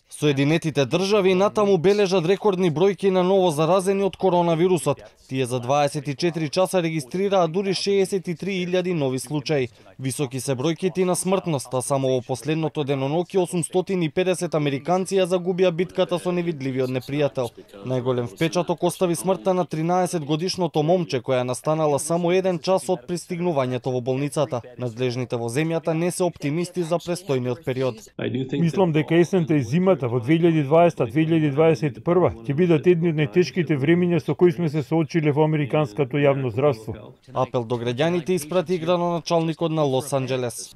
Соединетите држави натаму бележат рекордни бројки на ново заразени од коронавирусот. Тие за 24 часа регистрираа дури 63.000 нови случаи. Високи се бројките на смртност, а само во последното деноноќе 850 американци ја загубија битката со невидливиот непријател. Најголем впечаток остави смртта на 13-годишното момче која настанала само 1 час од пристигнувањето во болницата. Надлежните во земјата не се оптимисти за престојниот период. Мислам дека есента и зимата во 2020-2021 ќе бидат едни од најтешките времиња со кои сме се соочиле во американското јавно здравство. Апел до граѓаните испрати градоначалникот на Лос Анџелес.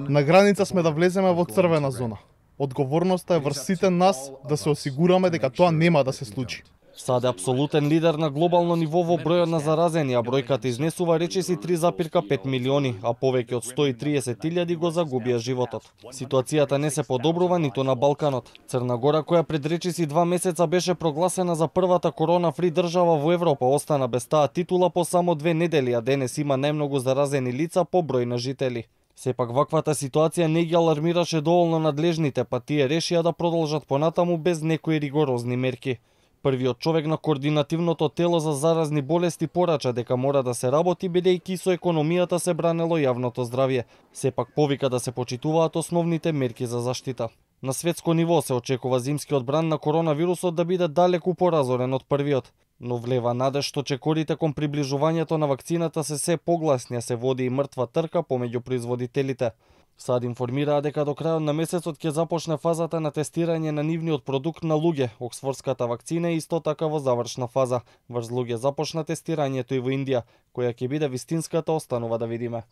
На граница сме да влеземе во црвена зона. Одговорноста е врз сите нас да се осигураме дека тоа нема да се случи. САД е апсолутен лидер на глобално ниво во бројот на заразени, а бројката изнесува речиси 3,5 милиони, а повеќе од 130.000 го загубија животот. Ситуацијата не се подобрува ниту на Балканот. Црна Гора, која пред речиси 2 месеца беше прогласена за првата корона-фри држава во Европа, остана без таа титула по само 2 недели, а денес има најмногу заразени лица по број на жители. Сепак ваквата ситуација не ги алармираше доволно надлежните, па тие решија да продолжат понатаму без некои ригорозни мерки. Првиот човек на координативното тело за заразни болести порача дека мора да се работи бидејќи со економијата се бранело јавното здравје. Сепак повика да се почитуваат основните мерки за заштита. На светско ниво се очекува зимскиот бран на коронавирусот да биде далеку поразорен од првиот, но влева надеж што чекорите кон приближувањето на вакцината се погласни, се води и мртва трка помеѓу производителите. САД информираа дека до крајот на месецот ќе започне фазата на тестирање на нивниот продукт на луѓе. Оксфордската вакцина е исто така во завршна фаза. Врз луѓе започна тестирањето и во Индија, која ќе биде вистинската, останува да видиме.